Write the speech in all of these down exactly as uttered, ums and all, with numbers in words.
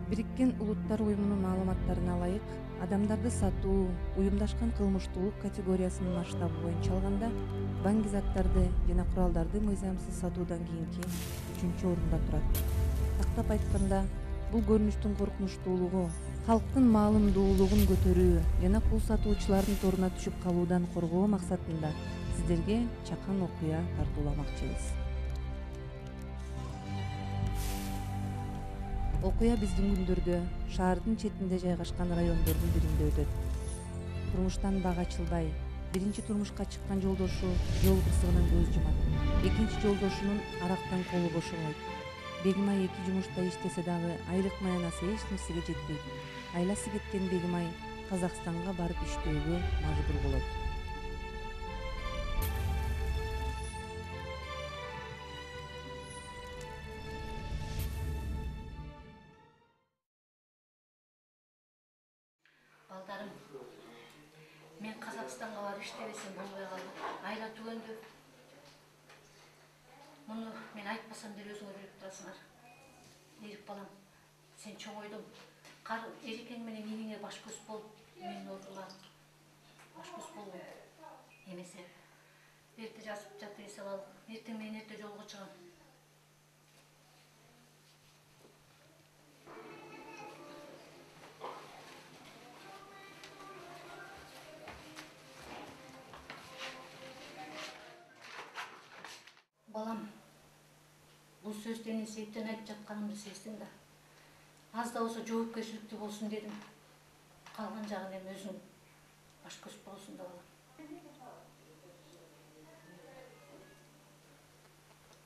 Бириккен Улуттар уюмунун маалыматтарына ылайык, адамдарды сатуу уюмдашкан кылмыштуулук категориясынын масштабы боюнча алганда банк заттарды жана куралдарды мыйзамсыз сатуудан кийинки үчүнчү орунда турат. Тактап айтканда, бул көрүнүштүн коркунучтуулугу, калктын маалымдуулугун көтөрүү жана кул сатуучулардын торуна түшүп калуудан коргоо максатында сиздерге чакан окуя тартууламакчыбыз. Окуя биздин күндөрдө шаардын четинде жайгашкан райондордун биринде өтөт. Турмуштан бак ачылбай, биринчи турмушка чыккан жолдошу жол кырсыгынан көз жумат. Экинчи жолдошунун арактан колу бошобойт. Бегимай эки жумушта иштесе дагы айлык маянасы эч нерсеге жетпейт. Айласы кеткен Бегимай Казакстанга барып иштөөгө мажбур болот. Балдарым, мен Казакстанга барып иштебесем болбой калды. Айла түгөндү. Муну мен айтпасам деле өзүңөр билип турасыңар. Эрик балам, сен чоңойдуң. Кар Эрикең менен иниңе баш көз болуп, мени ордула. Баш көз болбойм. Эмесе, эрте жазып жатып эсеп ал. Эртең менен эрте жолго чыгам. Балам, бул сөздү эмне себептен айтып жатканымды сездиң да. Аз да болсо жоопкерчиликтүү болсун дедим. Калган жагын эми өзүң баш көз болосуң да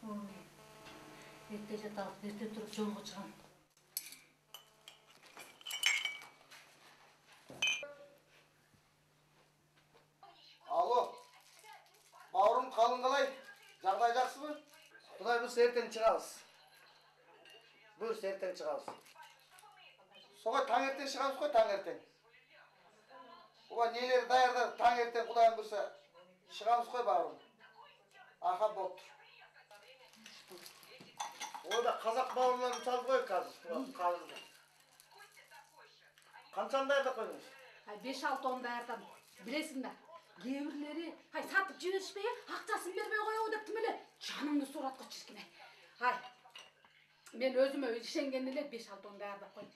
балам. Эрте жаталык, эрте туруп жолго чыгам. Алло, бауырым калың калай? Жагдай жакшыбы? Кудай буйрса эртең чыгабыз. Буйрса эртең чыгабыз. Согой таң эртең чыгабыз го, таң эртең. Ооба нелер даярдап таң эртең Кудайым буйрса чыгабыз го бауырым. Аха болуптур. Ойда казак бауырларын чалды коек азыр. Казыр. Канчаны даярдап койдуңуз? беш алты он даярдадым. Билесиң да, кээ бирлери ай сатып жиберишпей, акчасын бербей коебу деп тим эле жанымды сураткы чиркине. Ай, мен өзүмө ишенген эле беш алты он даярдап койдум.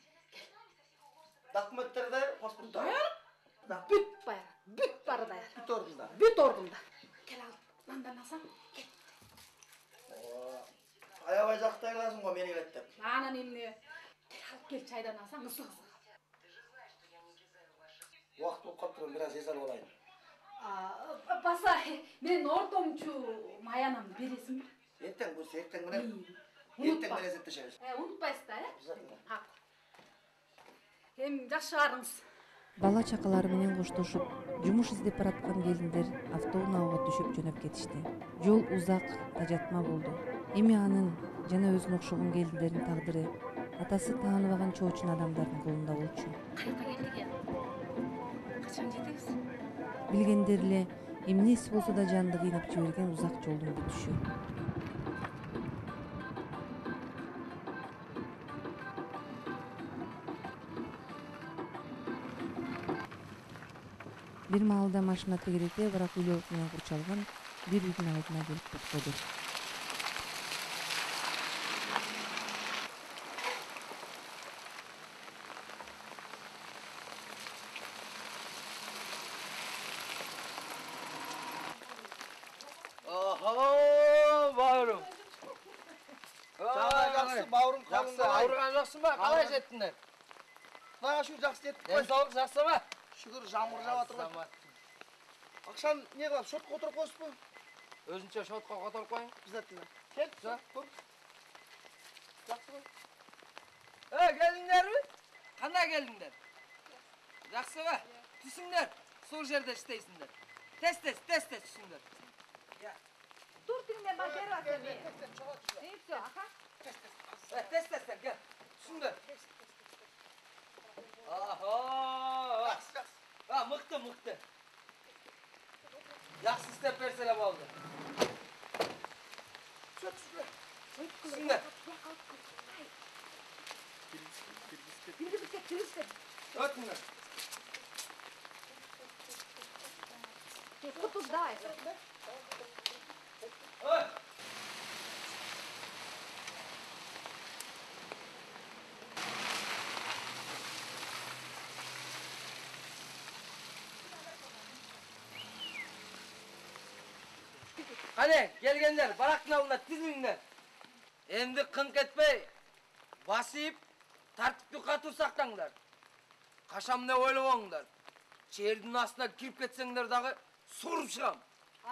Документтер даяр, паспорттар даяр? Бүт баары, бүт баары даяр. Бүт ордунда. Бүт ордунда. Кел ал, мындан алсам, кел. Аябай жактайласың го мени келет деп. Анан эмне? Кел алып кел чайдан алсаң, ысык-ысык. Убакыт болуп калыптыр, бир аз эс алып алайын. Баса, мен ортомчу маянамды бересиңби? Эртең буйрса эртең менен. Эртең менен эсептешебиз. Э, унутпайсыз да, э? Ак. Эми жакшы барыңыз. Бала чакалары менен коштошуп, жумуш издеп бараткан келиндер автоунаага түшүп жөнөп кетишти. Жол узак, тажатма болду. Эми анын жана өзүнө окшогон келиндердин тагдыры атасы тааныбаган чоочун адамдардын колунда болчу. Каяка келдик я? Качан жетебиз? Билгендер эле эмнеси болсо да жанды кыйнап жиберген узак жолдун бүтүшү. Бир маалда машина тегерете барак үйлөр менен курчалган бир үйдүн алдына келип токтоду. Охо, бауырым. Жагдай жакшы, бауырым калың Жакшы, ауырган жоксуң ба? Калай жеттиңер? Кудайга шүгүр жакшы жеттик Ден кой. соолук жакшыбы? Шүгүр жамгыр жаап атыр го. Акшам эмне кылам, шотко отуруп коесузбу? Өзүнчө шотко которуп коюң. Обязательно. Кел, Жа. тур. Жакшы го. Э, келдиңерби? Кандай келдиңер? Жакшыбы? Түсүңдөр. Сул жерде иштейсиңдер. Тез-тез, тез-тез түсүңдөр. Тур тиңден бар берип атам мен. И всё, аха. Э, тез-тез, кел. Түсүңдөр. Охо. Жакшы, жакшы. А, мыкты, мыкты. Жакшы истеп берсе эле болду. Чөп, чөп. Түсүңдөр. Киргиз, киргиз. Бирге бирге тегиштер. Өтүңөр. Кутуз давай. Ой. Qani, kelgenler, barақтың алдына тізіліңдер. Endi qınq etmey, basıp, tartipli katır saqtаңдар. Qaşam ne oylabаңдар. Çerдің астына kirip ketseңдер дағы sorup шығам.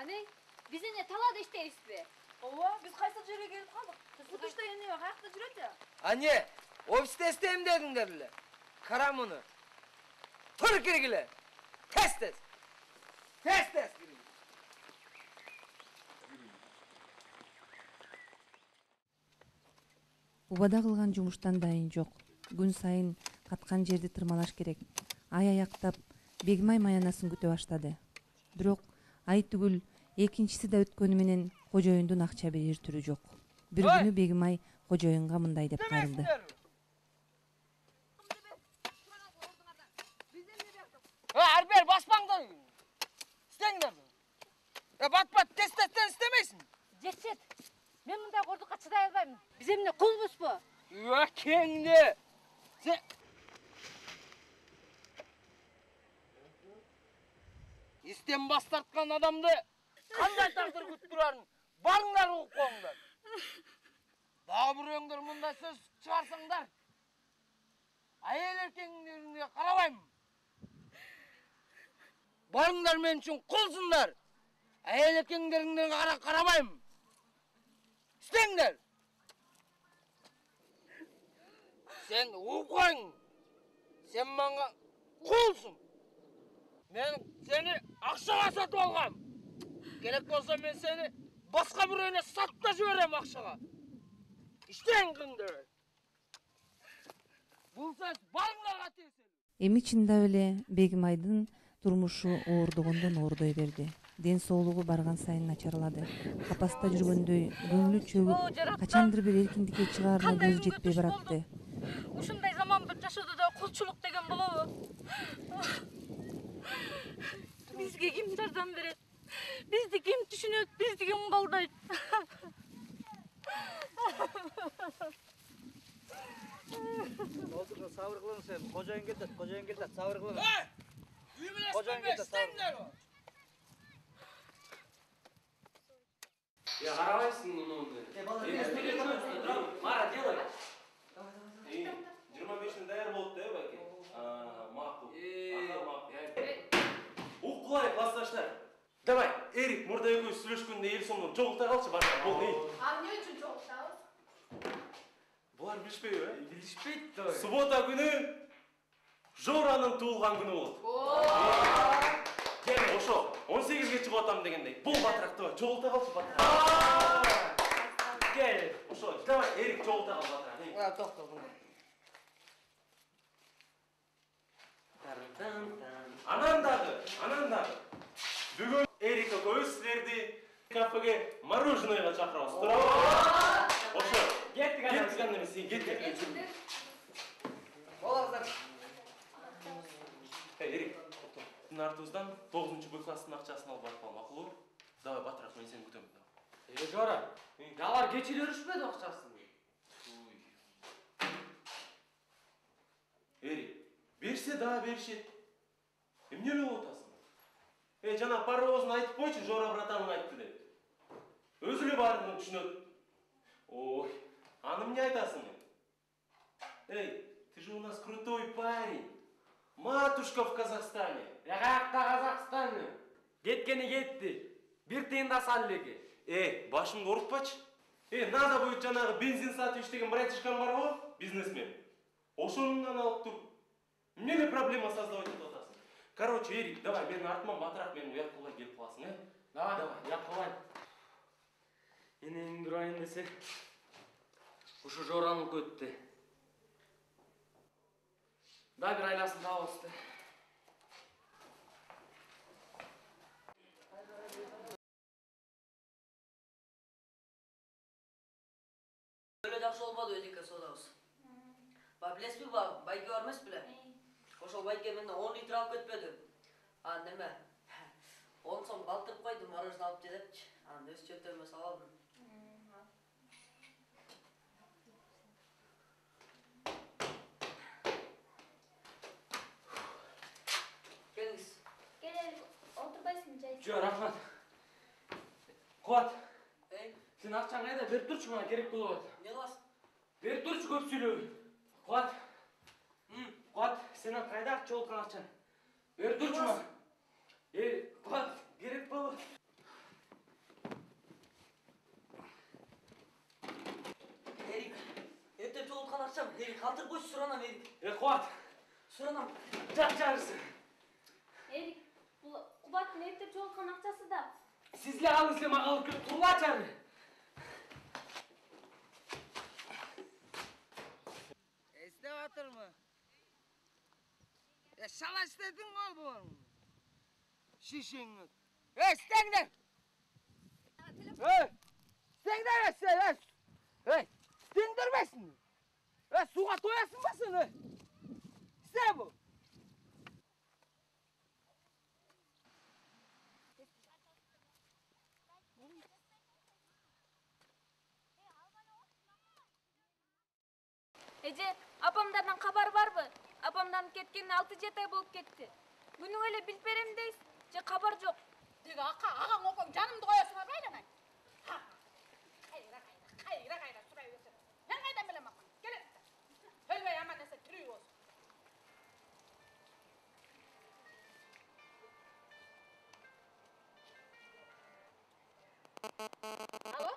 Aney, bize ne talada işteyiz be? Ova, biz kaysa жерге келip kaldık. Bu işte yeni yok, ayakta жүрөт ya. Anne, ofiste isteyim dedinlerle. Karam onu. Tur kirgile. Tez tez. Tez tez kirgile. Убада кылган жумуштан дайын жок. Күн сайын каткан жерди тырмалаш керек. Ай аяктап Бегимай маянасын күтө баштады. Бирок ай түгүл экинчиси да өткөнү менен кожоюндун акча берер түрү жок. Бир күнү Бегимай кожоюнга мындай деп кайрылды. Арбер баспаңдар. İstеңдер. Ya bat bat tez tezden istemeysin. Жетет. Мен мындай кордукка чыдай албайм. Биз эмне кулбузбу? Ökеңdi. Sen... İstem bas tartkan adamdı kanday taqdir күтүп турарын барыңдар угуп коңдар. Дагы бирөөңдөр мындай сөз чыгарсаңдар, айыл эркеңдерге карабайм. Барыңдар мен үчүн кулсундар. Айыл эркеңдерге карабайм. İstеңдер. Sen uğup Sen bana kulsun. Ben seni akşağa satıp algam. Gerek olsa ben seni başka birine satıp da jibерем akşağa. İşteңдер. Бул сөз барыңдарга тиеселүү. Эми чындап эле Бегимайдын турмушу оордогондон оордой берди. Ден соолугу барган сайын начарлады. Капаста жүргөндөй көңүлү чөгүп, качандыр бир эркиндикке чыгаарына көзү жетпей баратты. Ушундай заман бір жашоодо да кулчулук деген болобу? Бизге ким жардам берет? Бизди ким түшүнөт? Бизди ким колдойт? Otur, sabır kılın sen. Kocayın gel de, kocayın gel de, sabır kılın. Hey! Üyümün Kocayın esmen be, gel de, sabır İstеңдер. Я қарабайсың мұны ондай. Мара, делай. жиырма бешіне даяр болды да, бәке? Мақұл. Ага, мақұл. Уқ құлай, классташтар. Давай, Эрик, мұрда екеуі сүйлешкенде ел соңынан жоғылта қалшы, башқа бол дейін. А не үчүн жоктабыз? Бұлар білішпей, ә? Билишпейт да. Суббота күні Жораның туылған күні болды. Кел, ошо, он сегизге чыгып атам дегендей. Бұл батырақты жоғылта қалшы, батырақ. Кел, ошо, давай, Эрик, жоғылта қал, батырақ. Тоқта бұны. Анандағы, анандағы. Бүгін Эрик көз сілерді кафеге мороженыйға шақырауыз. Тұра. Ошо, Кеттік анан. кеттік анан, сен кеттік. Болаңыздар. Эрик, сіздің артыңыздан тоғызыншы Б класстың ақшасын алып барып қалмақ мақұл? Давай, батырақ, мен сені күтемін. Е, Жора, жалар кечилер үшпеді ақшасын. Эрик, берсе да бершет. Эмне эле отасың? Эй, жана паровозун айтып койчу, Жора братаның айтты деп. Өзү эле баарын түшүнөт. Ой, аны эмне айтасың? Эй, ты же у нас крутой парень. Матушка в Казахстане. Я каякта Казакстаны. Кеткени кетти. Бир тыйын да саллеги. Эй, башыңды оорутпачы. Эй, надо будет жанагы бензин сатып иштеген братишкам бар го, бизнесмен. Ошонунан алып туруп. Эмне эле проблема создавать этип атасың? Короче, Эрик, давай менин артыман батыраак менин уяк кылбай келип каласың, э? Давай, давай, уяк кылбайм. Энеңди урайын десе, ушу Жораныкы өттү. Да бир айласын табабызды. Öyle жақсы болбады өзікі содабыз. Ба билесизби ба, байке бар эмес беле? Ошол байке менден он литр алып кетпеди. А неме? он сом калтырып койдум, мороженое алып же депчи. Анан өз чөптөрүмө салып алдым. Келиңиz. Келели, отурбайсыңбы жай? Жок, рахмат. Кубат. Эй, сен акчаң кайда? Берип турчу, мага керек болуп атат. Не кыласың? Берип турчу, көп сүйлөбөй. Кубат. Кубат, сен кайда акча болуп акчаң? Берип турчу мага. Эй, Кубат, керек болуп. Эрик, эптеп жолуткан акчам. Эрик, калтырып койчу, суранам Эрик. Эй, Кубат. Суранам. Жак жарысы. Эрик, бул Кубаттын эптеп жолуткан акчасы да. Сизге алыңыз, сен мага алып келип тургачары. Эстеп атырмы? Э, шала иштедиң го булармы? Шишиңи. Эй, стеңдер! Эй! Стеңдер, эй! Эй, стеңдербесиң. Эй, суга тоясың ба сен, эй? Исте бу. Эже, апамдардан кабар барбы? Апамдан кеткенине алты жети ай болуп кетти. Күнүң эле билип берем дейсиз, же кабар жок? Тиги ака, агаң окоң жанымды коесуңар байланай. Кайра, кайра, кайра, кайра сурай берсем. Мен кайдан билем ака? Келе. Өлбөй аман эсен тирүү болсун. Алло?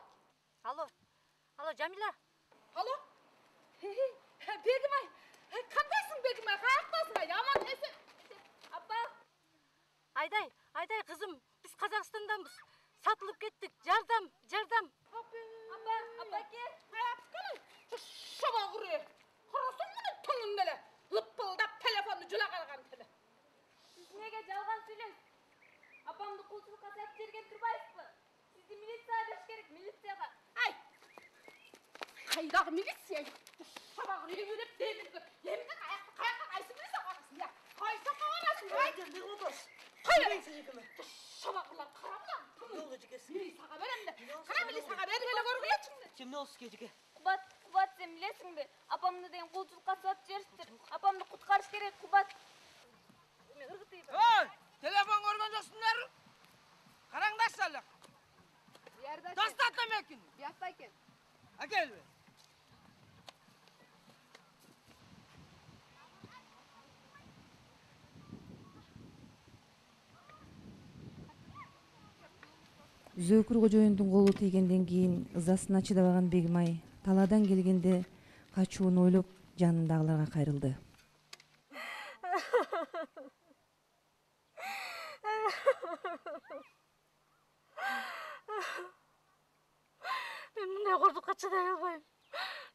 Алло. Алло, Жамила. Алло? Бегимай. Кандайсың Бегимай? Каяктасың? Аман эсен. Апа. Айдай, Айдай кызым, биз Казакстанданбыз. Сатылып кеттик. Жардам, жардам. Апа, апаке. Каяп келин. Шоба куре. Карасаң муну тыңын эле. Лыппылдап телефонду жула калган теле. Сиз неге жалган сүйлөйсүз? Апамды кулчулукка сатып жерген турбайсызбы? Сизди милицияга бериш керек, милицияга. Ай! Кайдагы милиция? Шоба куре деп демирге. Эмне каякта каякка кайсы милиция карасың я? Кайсы карасың? Ай, Не болдуңуз? Кайсы экеме? Шоба курлар карабылам. Жолго жекесиң. Милицияга берем де. Кара милицияга берип эле көргүлөчү. Эмне болду сизге жеке? Кубат, Кубат, сен билесиңби? Апамды деген кулчулукка сатып жиберишиптир. Апамды куткарыш керек, Кубат. Мен ыргытып. Ой, телефон көргөн жоксуңдар? Караңдарчы эле. Тастат эмекин. Биякта экен. Акелби. Зөөкүр кожоюндун колу тийгенден кийин ызасына чыдабаган Бегимай талаадан келгенде качууну ойлоп жанындагыларга кайрылды. Мен мындай кордукка чыдай албайм.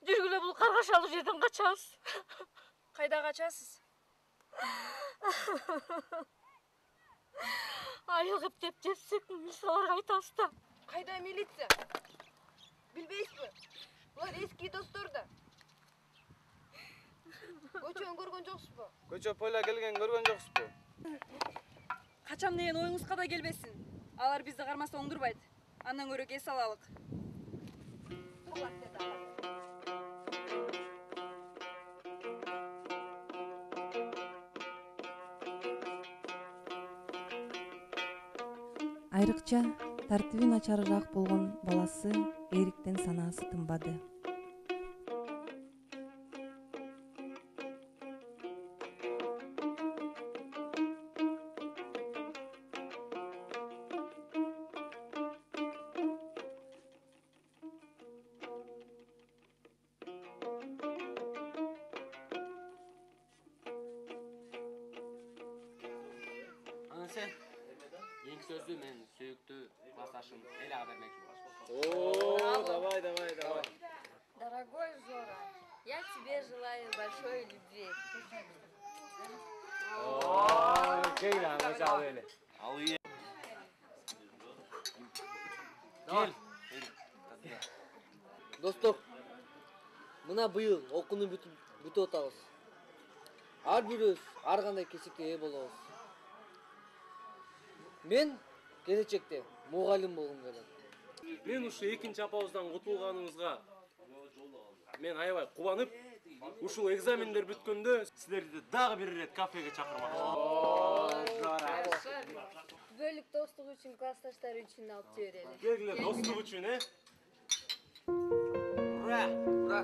Жүргүлө бул каргашалуу жерден качабыз. Кайда качасыз? Айылгып деп жепсек, милицияларга айтабыз да. Кайда милиция? Билбейсизби? Булар эски достор да. Көчөнү көргөн жоксузбу? Көчө пойла келген көргөн жоксузбу? Качам деген оюңузга да келбесин. Алар бизди кармаса оңдурбайт. Андан көрө кес алалык. Айрыкча тартиби начарыраак болгон баласы Эриктен санаасы тынбады. Сен ең сөзді мен сүйікті классташым Эляға бермекші боласың. О, давай, давай, давай. Дорогой Жора, я тебе желаю большой любви. О, кең аңа чал эле. Ал ие. Кел. Достор, мына быйыл окууну бүтүп бүтүп атабыз. Ар бирөөбүз ар кандай кесипке ээ болобуз. Мен келечекте мугалим болгум келет. Мен ушу экинчи апабыздан кутулганыбызга мен аябай кубанып, ушул экзамендер бүткөндө силерди дагы бир ирет кафеге чакырмакчымын. Бөлүк достук үчүн классташтар үчүн алып жиберели. Келгиле, достук үчүн, э? Ура! Ура!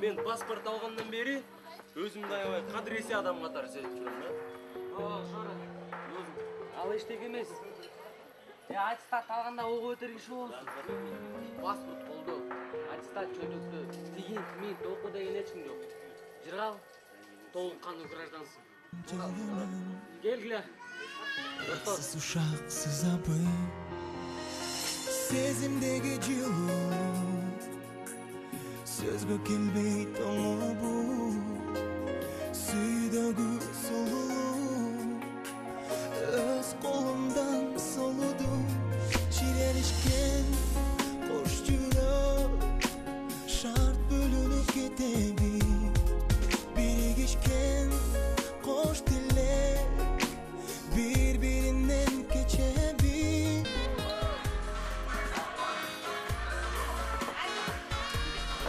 Мен паспорт алгандан бери өзүмдү аябай кадыресе адам катары сезип жүрөм, э? Ооба, Жора. Ал эчтек эмес. Э, аттестат алганда ого өтөр киши болсун. Паспорт колдо, аттестат чөйрөктө, тигин тимин току деген эч ким жок. Жыргал, толук кандуу граждансың. Келгиле. Сыз ушаксыз абы, сезимдеги жылуу, сөзгө келбей тоңо бу, сүйдөгү сулуу, өз колумдан солудум, чирелишкен кош жүрөк, шарт бөлүнүп кетеби, биригишкен кош тилек, bir-birinden geçebilir.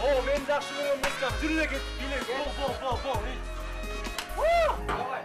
Oo, men жакшы көрөм, Мескам. Жүрүп кет, биле. Бол, бол, бол, бол. Давай.